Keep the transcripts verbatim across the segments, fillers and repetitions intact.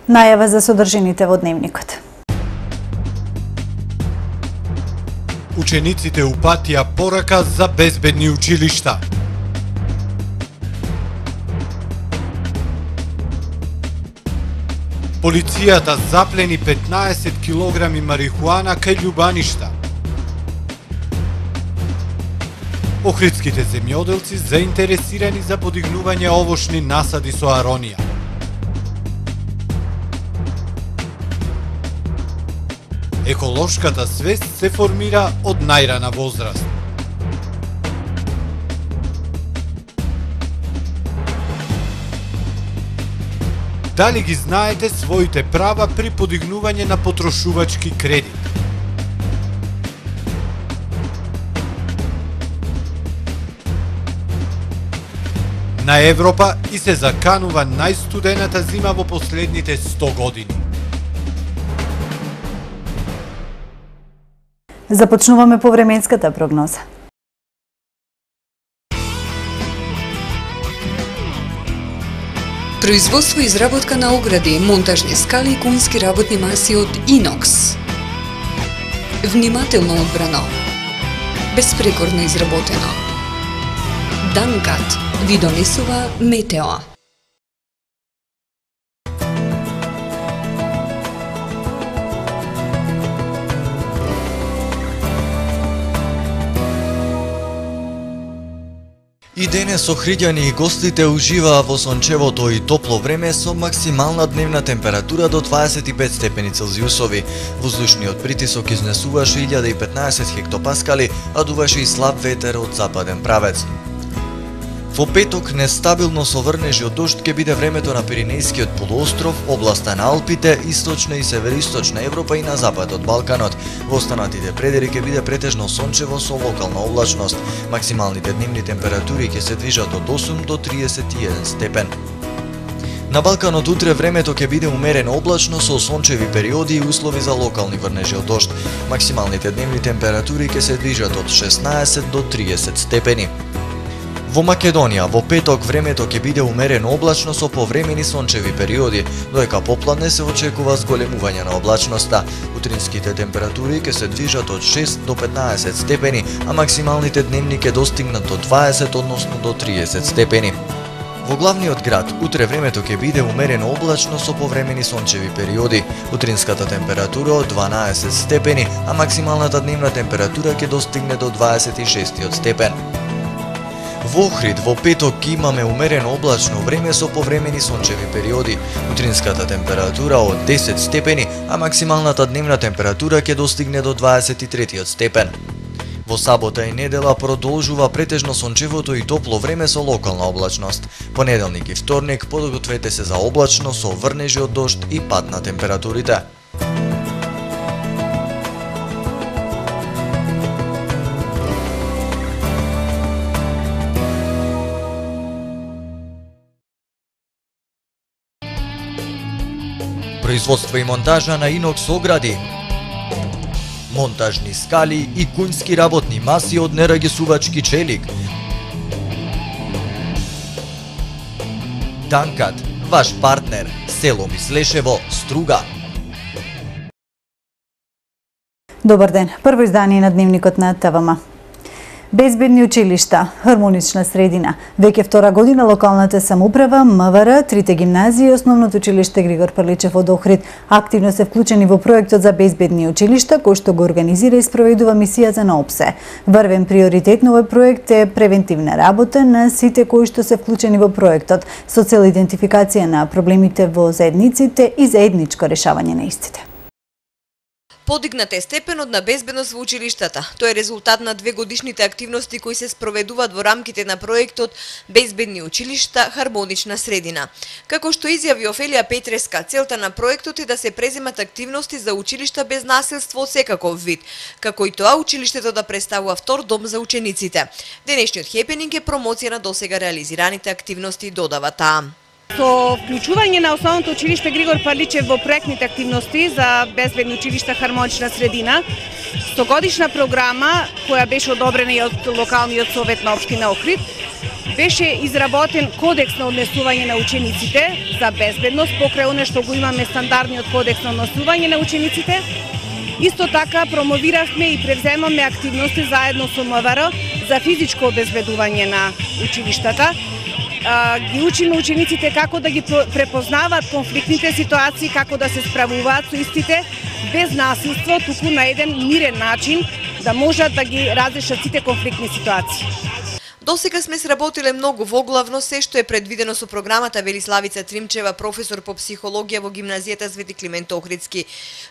Најава за содржините во дневникот. Учениците упатија порака за безбедни училишта. Полицијата заплени петнаесет килограми марихуана кај Љубаништа. Охридските земјоделци заинтересирани за подигнување овошни насади со аронија. Еколошката свест се формира од најрана возраст. Дали ги знаете своите права при подигнување на потрошувачки кредит? На Европа и се заканува најстудената зима во последните сто години. Започнуваме повременската прогноза. Производство и изработка на огради, монтажни скали и конски работни маси од инокс. Внимателно одбрано. Безпрекорно изработено. Данкат ви донесува Метео. И денес охриѓани и гостите уживаа во сончевото и топло време со максимална дневна температура до дваесет и пет степени Целзиусови. Воздушниот притисок изнесуваше илјада и петнаесет хектопаскали, а дуваше и слаб ветер од западен правец. Во петок нестабилно со врнежи од дожд ќе биде времето на Пиренејскиот полуостров, областа на Алпите, источна и североисточна Европа и на запад од Балканот. Во останатите предели ќе биде претежно сончево со локална облачност. Максималните дневни температури ќе се движат од осум до триесет и еден степен. На Балканот утре времето ќе биде умерено облачно со сончеви периоди и услови за локални врнежи од дожд. Максималните дневни температури ќе се движат од шеснаесет до триесет степени. Во Македонија во петок времето ќе биде умерено облачно со повремени сончеви периоди, додека попладне се очекува зголемување на облачноста. Утринските температури ќе се движат од шест до петнаесет степени, а максималните дневни ќе достигнат до дваесет, односно до триесет степени. Во главниот град утре времето ќе биде умерено облачно со повремени сончеви периоди. Утринската температура од дванаесет степени, а максималната дневна температура ќе достигне до дваесет и шест степен. Во Охрид во петок имаме умерено облачно време со повремени сончеви периоди. Утринската температура од десет степени, а максималната дневна температура ќе достигне до дваесет и три степен. Во сабота и недела продолжува претежно сончевото и топло време со локална облачност. Понеделник и вторник подгответе се за облачно со врнежи од дожд и пад на температурите. Производство и монтажа на инокс огради, монтажни скали и конски работни маси од нерагисувачки челик. Данкат, ваш партнер, село Мислешево, Струга. Добар ден, прво издание на дневникот на ТВМ. Безбедни училишта, хармонична средина. Веќе втора година локалната самоуправа, МВР, трите гимназии и основното училиште Григор Прличев од Охрид активно се вклучени во проектот за безбедни училишта, кој што го организира и спроведува мисијата на ОПСЕ. Врвен приоритет на овој проект е превентивна работа на сите кои што се вклучени во проектот, со цел идентификација на проблемите во заедниците и заедничко решавање на истите. Подигнат е степенот на безбедност во училиштата. Тој е резултат на две годишните активности кои се спроведуваат во рамките на проектот Безбедни училишта, хармонична средина. Како што изјави Офелија Петреска, целта на проектот е да се преземат активности за училишта без насилство од секаков вид, како и тоа училиштето да представува втор дом за учениците. Денешниот хепенинг е промоција на досега реализираните активности, додава таа. Со вклучување на основното училиште Григор Прличев во проектните активности за безбедни училишта, хармонична средина, Стогодишна програма која беше одобрена и од локалниот совет на општина Охрид, беше изработен кодекс на однесување на учениците за безбедност, покрај оне што го имаме стандардниот кодекс на однесување на учениците. Исто така промовиравме и превземаме активности заедно со МВР за физичко обезбедување на училиштата. Ги учиме учениците како да ги препознаваат конфликтните ситуации, како да се справуваат со истите без насилство, туку на еден мирен начин да можат да ги разрешат сите конфликтни ситуации. Досега сме сработиле многу воглавно се што е предвидено со програмата, вели Славица Тримчева, професор по психологија во гимназијата Свети Климент Охридски.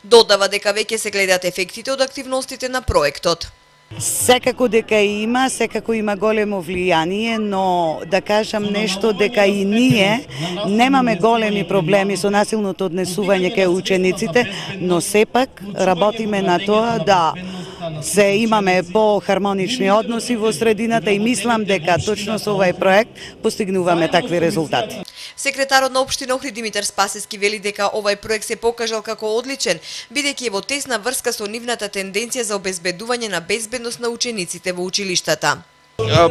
Додава дека веќе се гледаат ефектите од активностите на проектот. Секако дека има, секако има големо влијание, но да кажам нешто дека и ние немаме големи проблеми со насилното однесување кај учениците, но сепак работиме на тоа да се имаме по-хармонични односи во средината и мислам дека точно со овој проект постигнуваме такви резултати. Секретарот на општина Охрид Димитар Спасески вели дека овој проект се покажал како одличен, бидејќи е во тесна врска со нивната тенденција за обезбедување на безбедност на учениците во училиштата.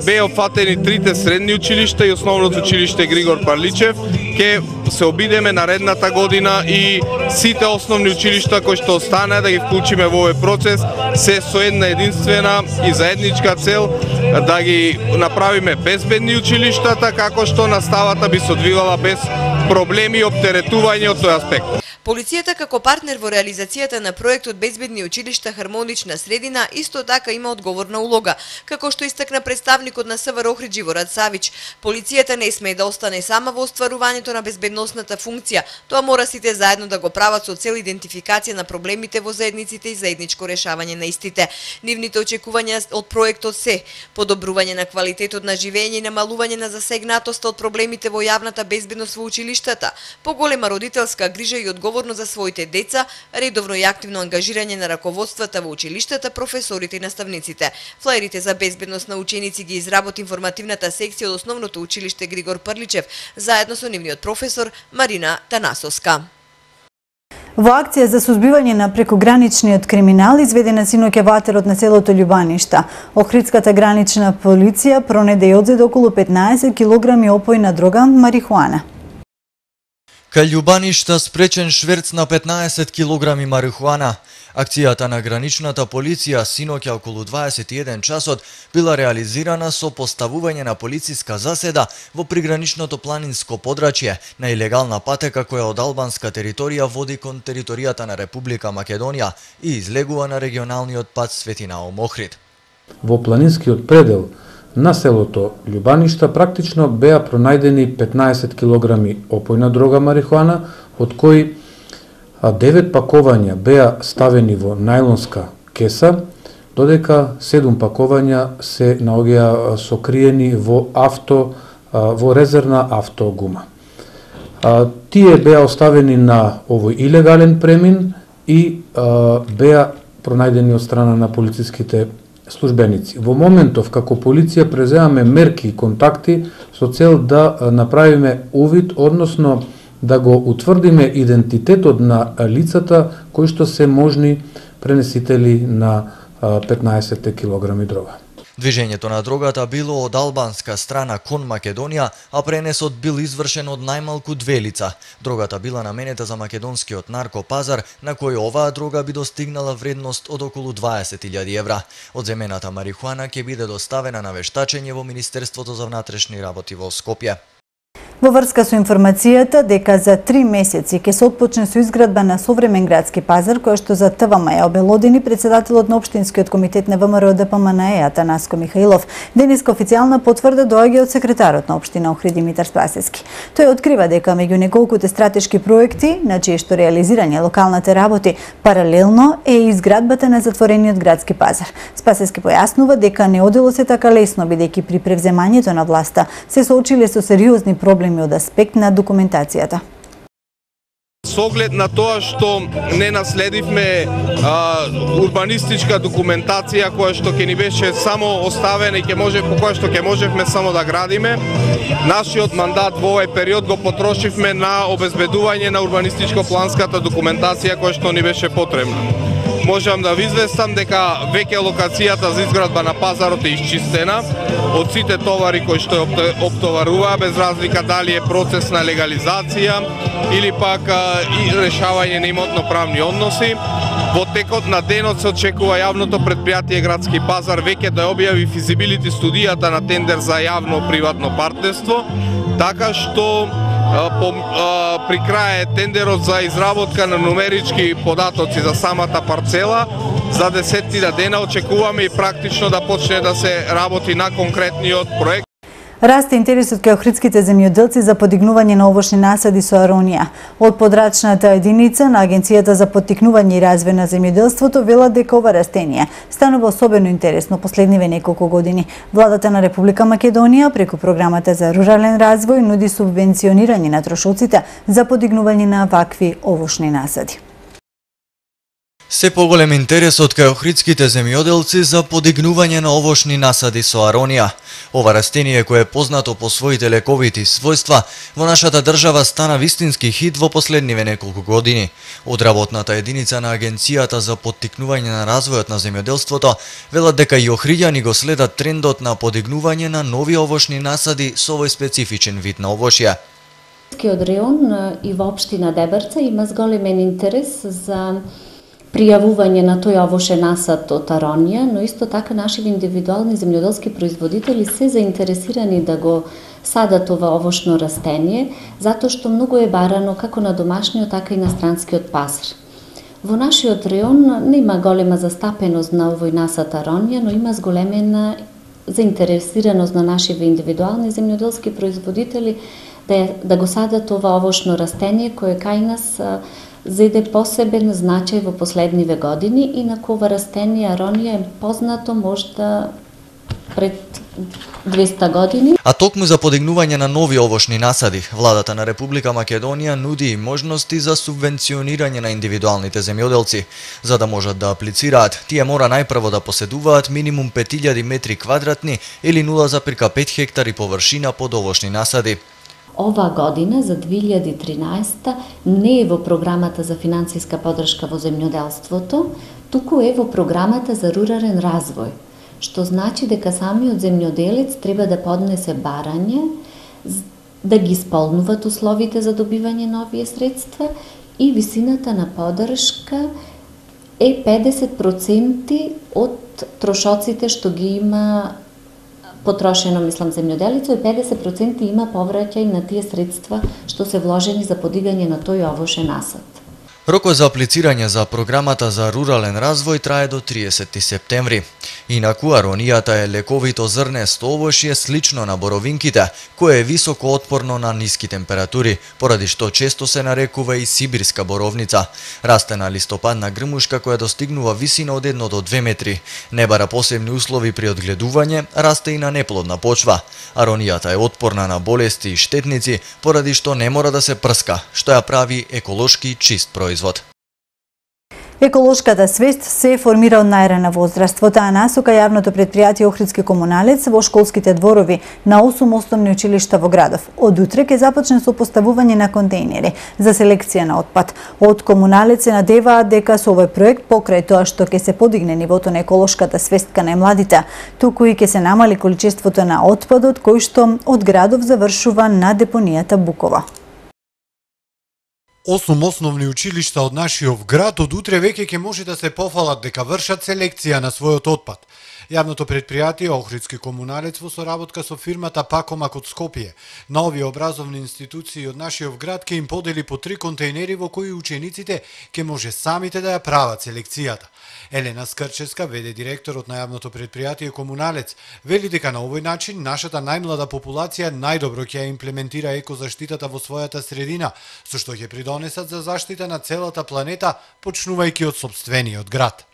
Беа опфатени трите средни училишта и основното училиште Григор Парличев. Ке се обидеме наредната година и сите основни училишта кои што останаа да ги вклучиме во овој процес, се со една единствена и заедничка цел да ги направиме безбедни училиштата, како што наставата би се одвивала без проблеми и оптеретување од тој аспект. Полицијата како партнер во реализацијата на проектот Безбедни училишта хармонична средина исто така има одговорна улога, како што истакна представникот на СВР Охрид Живорад Савич. Полицијата не смее да остане сама во остварувањето на безбедносната функција, тоа мора сите заедно да го прават со цел идентификација на проблемите во заедниците и заедничко решавање на истите. Нивните очекувања од проектот се подобрување на квалитетот на живење и намалување на засегнатоста од проблемите во јавната безбедност во училиштата, поголема родителска грижа и одговорност за своите деца, редовно и активно ангажирање на раководствата во училиштата, професорите и наставниците. Флаерите за безбедност на ученици ги изработи информативната секција од основното училиште Григор Прличев, заедно со нивниот професор Марина Танасовска. Во акција за сузбивање на прекограничниот криминал изведена синоќа во атерот на селото Љубаништа. Охридската гранична полиција пронеде и одзеде околу петнаесет килограми опојна дрога марихуана. Кај Љубаништа спречен шверц на петнаесет килограми марихуана. Акцијата на граничната полиција синоќа околу дваесет и еден часот била реализирана со поставување на полициска заседа во приграничното планинско подрачје на илегална патека која од албанска територија води кон територијата на Република Македонија и излегува на регионалниот пат Свети Наум Охрид. Во планинскиот предел на селото Љубаништа практично беа пронајдени петнаесет килограми опојна дрога марихуана, од кои девет пакувања беа ставени во најлонска кеса, додека седум пакувања се наоѓаа сокриени во авто во резервна автогума. Тие беа оставени на овој илегален премин и беа пронајдени од страна на полициските службеници. Во моментов како полиција преземаме мерки и контакти со цел да направиме увид, односно да го утврдиме идентитетот на лицата кои што се можни пренесители на петнаесет килограми дрога. Движењето на дрогата било од албанска страна кон Македонија, а пренесот бил извршен од најмалку две лица. Дрогата била наменета за македонскиот наркопазар, на кој оваа дрога би достигнала вредност од околу дваесет илјади евра. Одземената марихуана ќе биде доставена на вештачење во Министерството за внатрешни работи во Скопје. Во врска со информацијата дека за три месеци ќе се отпочне со изградба на современ градски пазар, која што за ТВМ ја обелодени председателот на Општинскиот комитет на ВМРО ДПМН Атанаско Михаилов. Денеска официјална потврда доаѓа од секретарот на општина Охрид Димитар Спасески. Тој открива дека меѓу неколкуте стратешки проекти, на чие што реализирање локалните работи, паралелно е и изградбата на затворениот градски пазар. Спасески појаснува дека не одело се така лесно, бидејќи при превземањето на власта се соочиле со сериозни проблеми од аспект на документацијата. Со оглед на тоа што не наследивме а, урбанистичка документација која што ќе ни беше само оставена и ќе може по која што ќе можевме само да градиме, нашиот мандат во овој период го потрошивме на обезбедување на урбанистичко-планската документација која што ни беше потребна. можам да ви известам дека веќе локацијата за изградба на пазарот е исчистена од сите товари кои што ја оптоваруваа, без разлика дали е процес на легализација или пак и решавање на имотно-правни односи. Во текот на денот се очекува јавното предпријатие Градски пазар веќе да објави физибилити студијата на тендер за јавно-приватно партнерство, така што по, а, при крај тендерот за изработка на нумерички податоци за самата парцела, за десетина дена очекуваме и практично да почне да се работи на конкретниот проект. Расте интересот кај охридските земјоделци за подигнување на овошни насади со аронија. Од подрачната единица на Агенцијата за поттикнување и развој на земјоделството велат дека ова растение станува особено интересно последниве неколку години. Владата на Република Македонија преку програмата за рурален развој нуди субвенционирање на трошоците за подигнување на вакви овошни насади. Се поголем интересот кај охридските земјоделци за подигнување на овошни насади со аронија. Ова растение, кое е познато по своите лековити својства, во нашата држава стана вистински хит во последниве неколку години. Од работната единица на Агенцијата за поттикнување на развојот на земјоделството велат дека и охриѓани го следат трендот на подигнување на нови овошни насади со овој специфичен вид на овошје. Од реон и во општина Дебрца има зголемен интерес за пријавување на тој овошен насад од аронија, но исто така наши индивидуални земјоделски производители се заинтересирани да го садат ова овошно растение, затоа што многу е барано како на домашниот, така и на странскиот пазар. Во нашиот реон нема голема застапеност на овој насад аронија, но има зголемена заинтересираност на нашиве индивидуални земјоделски производители да, да го садат ова овошно растение кое кај нас зеде посебен значај во последниве години, инаку ова растение аронија е познато можда пред двеста години. А токму за подигнување на нови овошни насади, владата на Република Македонија нуди и можности за субвенционирање на индивидуалните земјоделци. За да можат да аплицираат, тие мора најпрво да поседуваат минимум пет илјади метри квадратни или нула запирка пет хектари површина под овошни насади. Ова година, за две илјади и тринаесетта, не е во програмата за финансиска поддршка во земјоделството, туку е во програмата за рурален развој, што значи дека самиот земјоделец треба да поднесе барање, да ги исполнуваат условите за добивање на овие средства и висината на поддршка е педесет проценти од трошоците што ги има потрошено, мислам, земјоделицо, и педесет проценти има повраќај на тие средства што се вложени за подигање на тој овошен насад. Рокот за аплицирање за програмата за рурален развој трае до триесети септември. Инаку аронијата е лековито зрнесто овошје слично на боровинките, кое е високо отпорно на ниски температури, поради што често се нарекува и сибирска боровница. Расте на листопадна грмушка која достигнува висина од едно до две метри. Не бара посебни услови при одгледување, расте и на неплодна почва. Аронијата е отпорна на болести и штетници, поради што не мора да се прска, што ја прави еколошки чист производ. Еколошката свест се формира од најрана возраст. Во таа насока јавното предпријатие Охридски комуналец во школските дворови на осум основни училишта во градов од утре ќе започне со поставување на контејнери за селекција на отпад. Од комуналец се надеваат дека со овој проект покрај тоа што ќе се подигне нивото на еколошката свест кај најмладите, туку и ќе се намали количеството на отпадот кој што од градов завршува на депонијата Букова. Осум основни училишта од нашиот град од утре веќе ќе може да се пофалат дека вршат селекција на својот отпад. Јавното предпријатие Охридски комуналец во соработка со фирмата Пакомак од Скопје на овие образовни институции од нашиот град ќе им подели по три контејнери во кои учениците ќе може самите да ја прават селекцијата. Елена Скрческа, ве де директорот на јавното предпријатие Комуналец, вели дека на овој начин нашата најмлада популација најдобро ќе ја имплементира екозаштитата во својата средина, со што ќе придонесат за заштита на целата планета, почнувајќи од сопствениот град.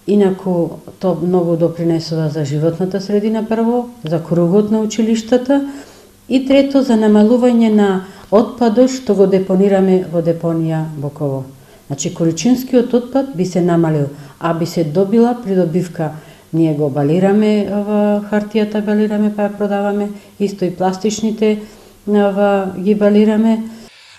Инаку, тоа многу допринесува за животната средина прво, за кругот на училиштата и трето за намалување на отпадот што го депонираме во депонија Буково. Значи, количинскиот отпад би се намалил, а би се добила придобивка. Ние го балираме, хартијата балираме па ја продаваме, исто и пластичните ги балираме.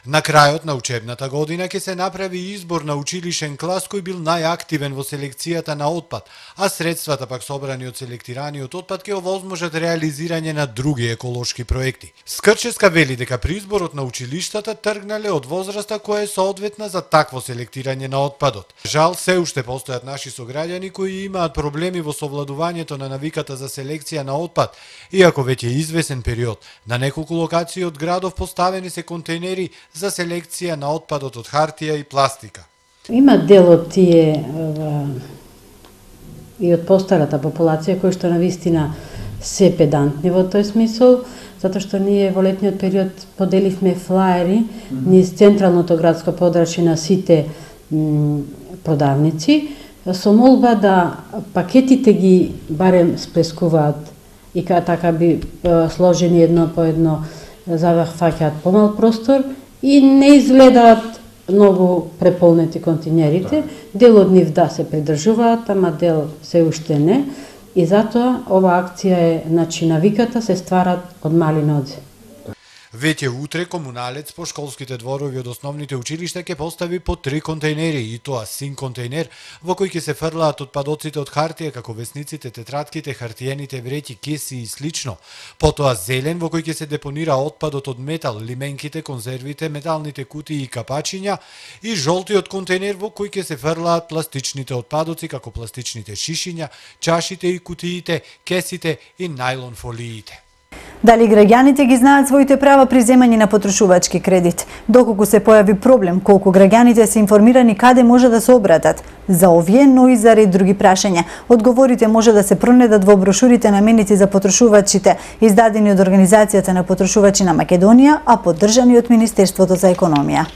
На крајот на учебната година ќе се направи избор на училишен клас кој бил најактивен во селекцијата на отпад, а средствата пак собрани од селектираниот отпад ќе овозможат реализирање на други еколошки проекти. Скрческа вели дека при изборот на училиштата тргнале од возраста која е соодветна за такво селектирање на отпадот. Жал, се уште постојат наши сограѓани кои имаат проблеми во совладувањето на навиката за селекција на отпад, иако веќе извесен период на неколку локации од градов поставени се контейнери за селекција на отпадот од хартија и пластика. Има дел од тие и од постарата популација кои што навистина се педантни во тој смисол, затоа што ние во летниот период поделивме флаери низ централното градско подрачје на сите продавници, со молба да пакетите ги барем сплескуваат и така би сложени едно по едно, за да фаќаат помал простор и не изгледаат многу преполнети континерите. Дел од нив да се придржуваат, ама дел се уште не. И затоа ова акција е, значи, навиката се стварат од мали нозе. Веќе утре комуналец по школските дворови од основните училишта ќе постави по три контейнери, и тоа син контейнер во кој ќе се фрлаат отпадоците од хартија како весниците, тетратките, хартиените вреќи, кеси и слично. Потоа зелен во кој ќе се депонира отпадот од метал, лименките, конзервите, металните кутии и капачиња, и жолтиот контейнер во кој ќе се фрлаат пластичните отпадоци како пластичните шишиња, чашите и кутиите, кесите и најлон фолиите. Дали граѓаните ги знаат своите права при земање на потрошувачки кредит? Доколку се појави проблем, колку граѓаните се информирани каде може да се обратат? За овие, но и за ред други прашања. Одговорите може да се пронедат во брошурите наменети за потрошувачите, издадени од Организацијата на потрошувачи на Македонија, а поддржани од Министерството за економија.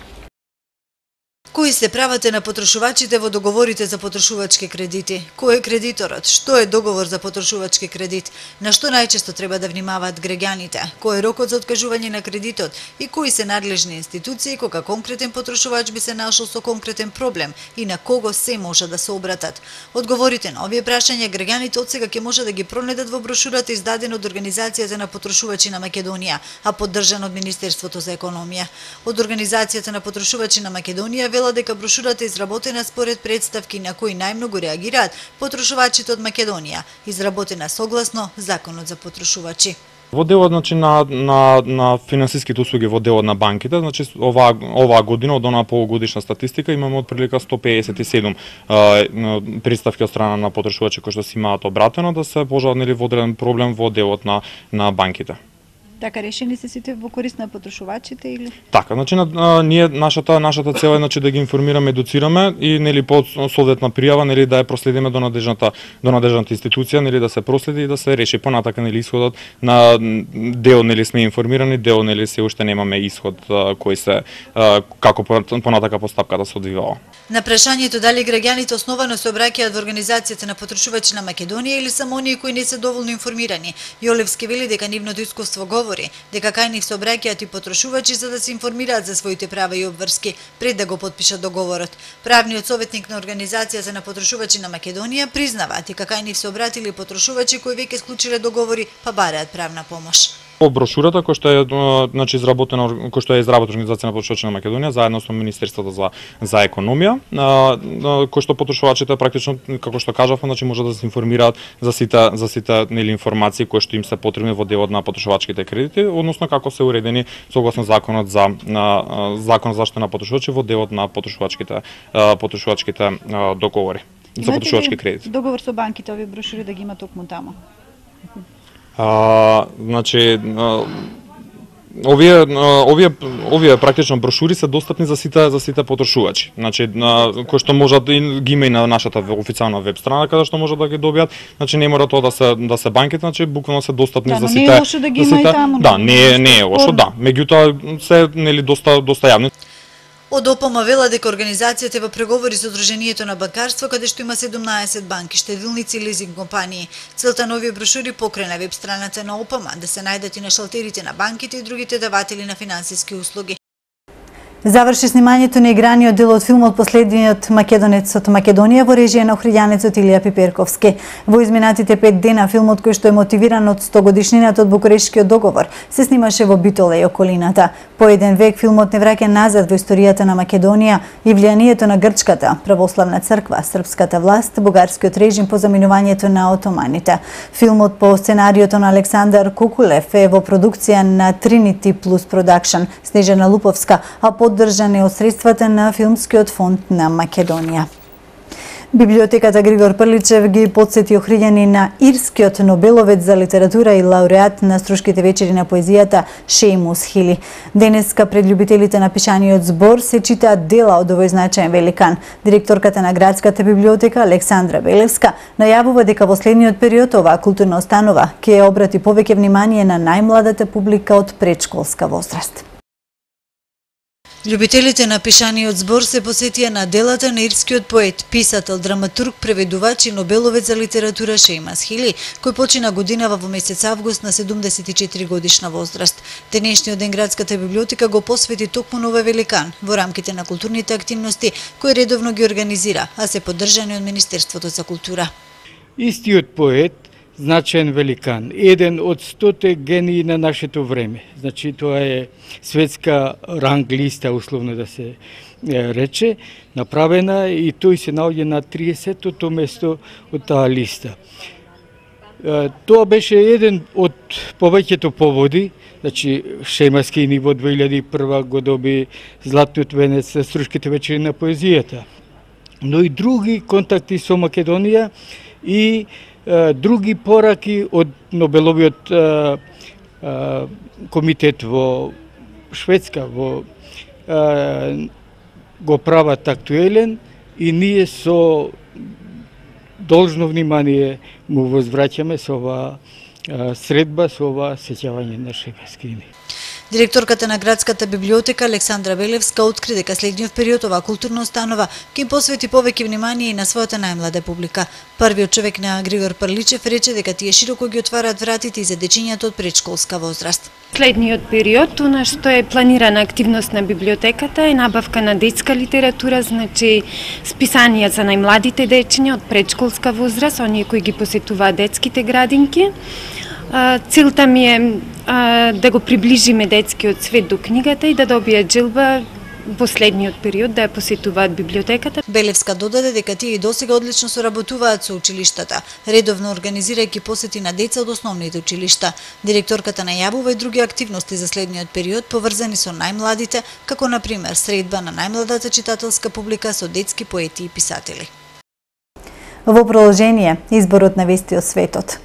Кои се правата на потрошувачите во договорите за потрошувачки кредити? Кој е кредиторот? Што е договор за потрошувачки кредит? На што најчесто треба да внимаваат граѓаните? Кој е рокот за откажување на кредитот? И кои се надлежни институции кога конкретен потрошувач би се нашол со конкретен проблем и на кого се може да се обратат? Одговорите на овие прашања граѓаните одсега ќе може да ги пронедат во брошурата издадена од Организацијата на потрошувачи на Македонија, а поддржана од Министерството за економија. Од Организацијата на потрошувачи на Македонија велат дека брошурата е изработена според представки на кои најмногу реагираат потрошувачите од Македонија, изработена согласно Законот за потрошувачи. Во делот, значи, на, на, на финансиските услуги во делот на банките, значи, оваа, оваа година, од онаа полугодишна статистика, имаме од прилика сто пеесет и седум а, представки од страна на потрошувачи кои што си имаат обратено да се пожалнели во одреден проблем во делот на, на банките. Така решени се сите во корист на потрошувачите или? Така, значи на, ние нашата нашата цел е, значи, да ги информираме, едуцираме и, нели, по соодветна пријава, нели, да ја проследиме до надлежната до надлежната институција, нели, да се проследи и да се реши понатака, нели, исходот на дел, нели, сме информирани, дел, нели, се уште немаме исход а, кој се а, како понатака постапката се одвивала. На прашањето дали граѓаните основано се обраќаат во Организацијата на потрошувачи на Македонија или само оние кои не се доволно информирани, Јолевски вели дека нивното искуство говори дека кај нив се обраќаат и потрошувачи за да се информираат за своите права и обврски пред да го подпишат договорот. Правниот советник на Организацијата на потрошувачи на Македонија признава дека кај нив се обратили потрошувачи кои веќе склучиле договори па бараат правна помош. По брошурата која што е, значи, изработена, која што е изработена Организација на потрошувачи на Македонија заедно со Министерството за за економија, кој што потрошувачите практично, како што кажав, значи, може да се информираат за сите за сите, нели, информации кои што им се потребни во делот на потрошувачките кредити, односно како се уредени согласно законот за на закон за заштита на потрошувачи во делот на потрошувачките потрошувачките договори за потрошувачки кредити. Договор со банките, овие брошури да ги има токму таму? А, значи, а, овие овие овие практично брошури се достапни за сите за сите потрошувачи. Значи, кои што можат да ги има и на нашата официјална веб страна каде што можат да ги добијат. Значи не мора тоа да се да се банките, значи буквално се достапни да, за сите. Не е лошо да ги има и таму. Да, не не е лошо, да. Меѓутоа се, нели, доста доста јавни. Од ОПМ вела дека организацијата е во преговори со Удруженијето на банкарство, каде што има седумнаесет банки, штедилници и лизинг компании. Целта на овие брошури покрај на веб страната на ОПМ да се најдат и на шалтерите на банките и другите даватели на финансиски услуги. Заврши снимањето на играниот дел од филмот Последниот македонец од Македонија во режија на охриѓанецот Илија Пиперковски. Во изминатите пет дена филмот кој што е мотивиран од стогодишнината од Букурештскиот договор се снимаше во Битола и околината. По еден век филмот не враќа назад во историјата на Македонија и влијанието на грчката православна црква, српската власт, бугарскиот режим по заминувањето на отоманите. Филмот по сценариото на Александар Кукулев е во продукција на Trinity Plus Production, Снежана Луповска, а поддржан е од средствата на Филмскиот фонд на Македонија. Библиотеката Григор Прличев ги потсети охриѓани на ирскиот Нобеловец за литература и лауреат на Струшките вечери на поезијата Шејмус Хили. Денеска пред љубителите на пишаниот збор се читаат дела од овој значаен великан. Директорката на Градската библиотека Александра Белевска најавува дека во следниот период оваа културна установа ќе обрати повеќе внимание на најмладата публика од предшколска возраст. Љубителите на пишаниот збор се посетија на делата на ирскиот поет, писател, драматург, преведувач и Нобеловец за литература Шејмус Хили, кој почина годинава во месец август на седумдесет и четири годишна возраст. Денешниот ден Градската библиотека го посвети токму на овој великан во рамките на културните активности кои редовно ги организира, а се поддржани од Министерството за култура. Истиот поет, значаен великан, еден од стоте гении на нашето време. Значи, тоа е светска ранг листа, условно да се рече, направена и тој се наоѓа на триесеттото место од таа листа. Тоа беше еден од повеќето поводи, значи Шејмус Хили во две илјади и прва го доби Златниот венец за Струшките вечери на поезијата, но и други контакти со Македонија и други пораки од Нобеловиот а, а, комитет во Шведска во а, го прават актуелен и ние со должно внимание му возвраќаме со оваа средба, со оваа сеќавање на Шејмус Хили. Директорката на Градската библиотека Александра Белевска откри дека следниот период оваа културна установа ќе им посвети повеќе внимание и на својата најмлада публика. Првиот човек на Григор Прличев рече дека тие широко ги отвараат вратите и за дечињата од предшколска возраст. Следниот период, она што е планирана активност на библиотеката е набавка на детска литература, значи списанија за најмладите дечиња од предшколска возраст, оние кои ги посетуваат детските градинки. Целта ми е а, да го приближиме детскиот свет до книгата и да добијат желба во следниот период да ја посетуваат библиотеката. Белевска додаде дека тие и досега одлично соработуваат со училиштата, редовно организирајќи посети на деца од основните училишта. Директорката најавува и други активности за следниот период поврзани со најмладите, како на пример средба на најмладата читателска публика со детски поети и писатели. Во продолжение, изборот на вести од светот.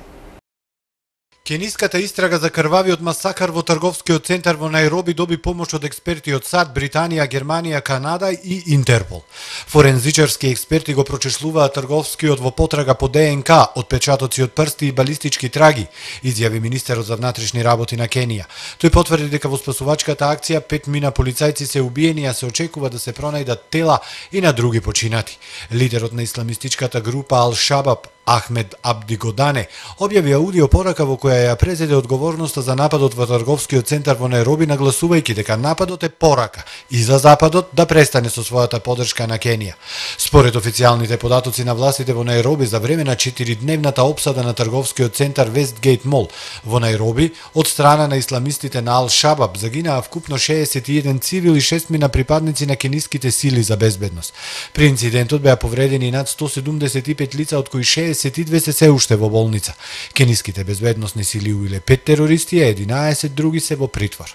Кениската истрага за крвавиот масакар во трговскиот центар во Најроби доби помош од експерти од САД, Британија, Германија, Канада и Интерпол. Форензичарски експерти го прочешлуваат трговскиот во потрага по ДНК, отпечатоци од прсти и балистички траги, изјави министерот за внатрешни работи на Кенија. Тој потврди дека во спасувачката акција пет мина полицајци се убиени, а се очекува да се пронајдат тела и на други починати. Лидерот на исламистичката група Ал-Шабаб, Ахмед Абди Годане, објави аудио порака во која ја презеде одговорноста за нападот во трговскиот центар во Најроби, нагласувајќи дека нападот е порака и за Западот да престане со својата поддршка на Кенија. Според официјалните податоци на властите во Најроби за време на четиридневната опсада на трговскиот центар Вестгейт Мол во Најроби од страна на исламистите на Ал-Шабаб загинаа вкупно шеесет и еден цивил и шестмина припадници на кениските сили за безбедност. При инцидентот беа повредени над сто седумдесет и пет лица, од кои шеесет и две се се уште во болница. Кениските безбедносни сили убиле пет терористи, а единаесет други се во притвор.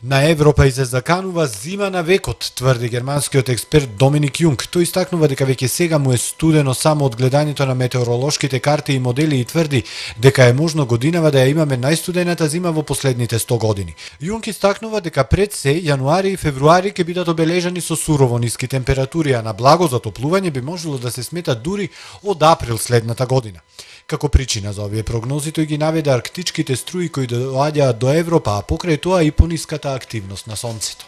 На Европа и се заканува зима на векот, тврди германскиот експерт Доминик Јунг. Тој истакнува дека веќе сега му е студено само од гледањето на метеоролошките карти и модели и тврди дека е можно годинава да ја имаме најстудената зима во последните сто години. Јунг истакнува дека пред се јануари и февруари ќе бидат обележани со сурово ниски температури, а на благо затоплување би можело да се смета дури од април следната година. Како причина за овие прогнози тој ги наведе арктичките струи кои доаѓаат до Европа, а покрај тоа и пониската активност на сонцето.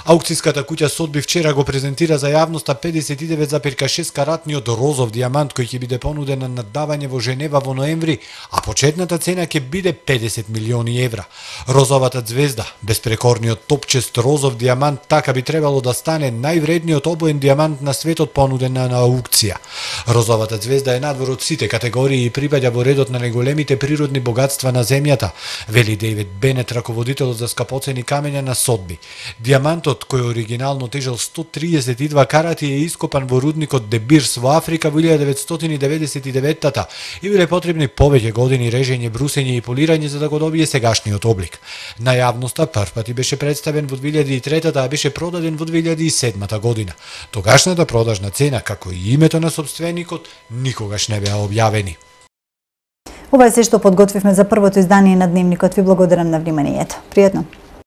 Аукцијската куќа Сотби вчера го презентира за јавноста педесет и девет зарез шест каратниот розов дијамант кој ќе биде понуден на наддавање во Женева во ноември, а почетната цена ќе биде педесет милиони евра. Розовата звезда, беспрекорниот топчест розов дијамант, така би требало да стане највредниот обоен дијамант на светот понуден на аукција. Розовата звезда е надвор од сите категории и припаѓа во редот на најголемите природни богатства на земјата, вели Дейвид Бенет, раководителот за скапоцени камења на Сотби. Дијамантот, кој оригинално тежел сто триесет и два карати, е ископан во рудникот Де Бирс во Африка во илјада деветстотини деветдесет и деветта и биле потребни повеќе години режење, брусење и полирање за да го добие сегашниот облик. На јавноста првпати беше представен во две илјади и трета, а беше продаден во две илјади и седма година. Тогашната продажна цена, како и името на собственикот, никогаш не беа објавени. Ова е се што подготвивме за првото издание на Дневникот. Ви благодарам на вниманието. Пријатно!